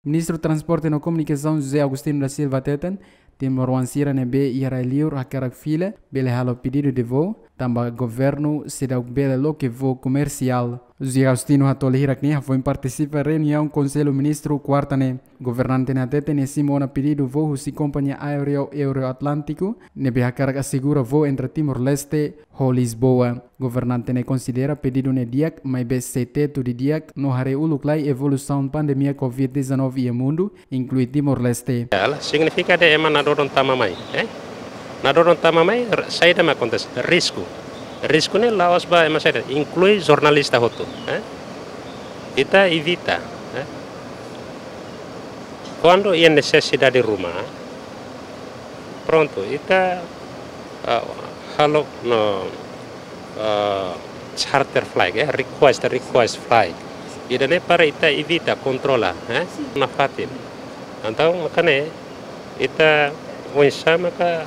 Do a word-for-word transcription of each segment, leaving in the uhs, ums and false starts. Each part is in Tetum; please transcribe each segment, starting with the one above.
Ministru Transporte no Komunikasaun José Agostinho da Silva hateten, timoroan sira ne'ebé iha rai-liur hakarak fila bele halo pedidu de voo, tanba governu seidauk bele loke voo komersiál. José Agostinho hato'o hirak ne'e hafoin partisipa reuniaun Konsellu Ministru kuarta ne'e. Governante ne'e hateten nia simu ona pedidu voo husi kompañia aéreu Euroatlântico ne'ebé hakarak asegura voo entre Timor-Leste ho Lisboa. Governante ne'e konsidera pedidu ne'e di'ak, maibé sei tetu didi'ak no haree uluk lai evolusaun pandemia covid dezanove iha mundu, inklui Timor-Leste. Signifika de'it ema nadodon tama mai, eh? Nadodon tama mai, r-, saida mak akontese, risku. Risku ne'e la'ós ba ema saida, inklui jornalista hotu, eh? Ita evita, eh? Kuandu iha nesesidade ruma, prontu, ita, ah, halo no, ah, charter flight, eh, request, request flight. Ida-ne'e para ita evita, kontrola, eh, nafatin. Entaun, maka ne'e, ita oinsá maka,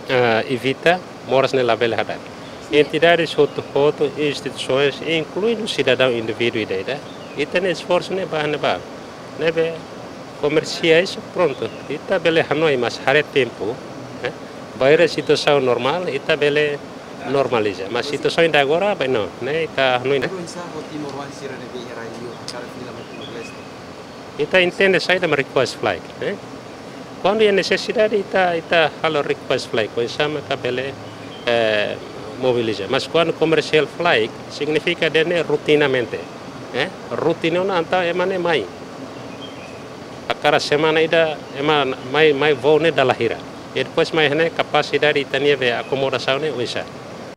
ah, evita moras ne'e labele hadak. Entidades hotu-hotu, instituisoens, inkluidu sidadaun indivíduu ida-idak, ita-nia esforsu ne'e ba ne'ebá. Ne'ebé komersiál, prontu, ita bele hanoin, mas haree tempu, eh? Bainhira situasaun normál, ita bele normaliza. Mas situasaun ida agora, bem, não, ne'e ita hanoin, ne'e? Oinsá ho timoroan sira ne'ebé iha rai-liur hakarak fila mai Timor-Leste? Ita entende saida mak request flight, eh? Kuandu iha nesesidade, ita, ita halo request flight, oinsá maka bele, eh, mobiliza. Mas kuandu commercial flight, signifika de'it ne'e rotinamente, eh? Rotina ona entaun ema ne'e mai. A kada semana ida ema mai, mai voo ne'e dala hira. E depois mai iha ne'e kapasidade ita-nia be akomodasaun ne'e oinsá.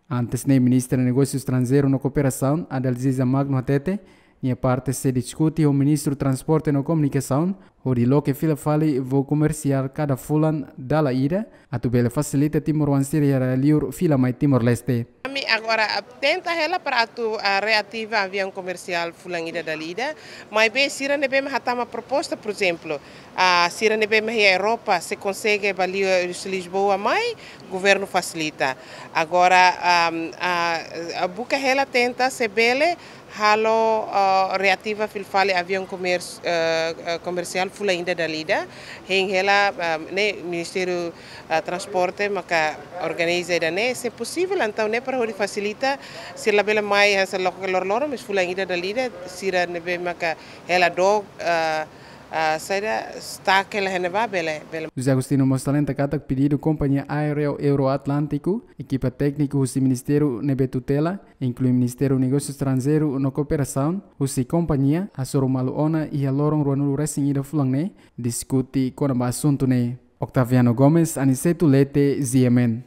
Antes ne'e, Ministra Negósiu Estranjeiru no Kooperasaun, Adalziza Magno hateten, nia parte sei diskute ho Ministru Transporte no Komunikasaun, hodi loke fila fali voo komersiál kada fulan dala ida, atu bele fasilita timoroan sira iha rai-liur fila mai Timor-Leste. Ami agora, ah, tenta hela para atu, ah, reativa aviaun komersiál fulan ida dala ida, maibé sira ne'ebé mak hatama proposta, por ezemplu, ah, sira ne'ebé mak iha Europa, se konsege ba liu-, Lisboa mai, governu fasilita. Agora, ah, ah, ah, buka hela tenta se bele halo, ah, reativa fila fali aviaun komers-, ah, ah, komersiál fulan ida dala ida. Hein hela, ah, ne'e Ministériu, ah, Transporte maka organiza ida-ne'e, se posivel, entaun ne'e para hodi fasilita, sira labele mai hanesan loke loroloron, mas fulan ida dala ida, sira ne'ebé maka hela dook, ah, ah, saida, stuck hela iha ne'ebá bele, bele. José Agostinho mós salienta katak pedidu kompañia aéreu Euroatlântico, ekipa tékniku husi ministériu ne'ebé tutela, inklui Ministériu Negósiu Estranjeiru no Kooperasaun, husi kompañia, hasoru malu ona iha loron ruanulu resin ida fulan ne'e, diskute kona-ba asuntu ne'e. Octaviano Gomes, Aniceto Lete, G M N.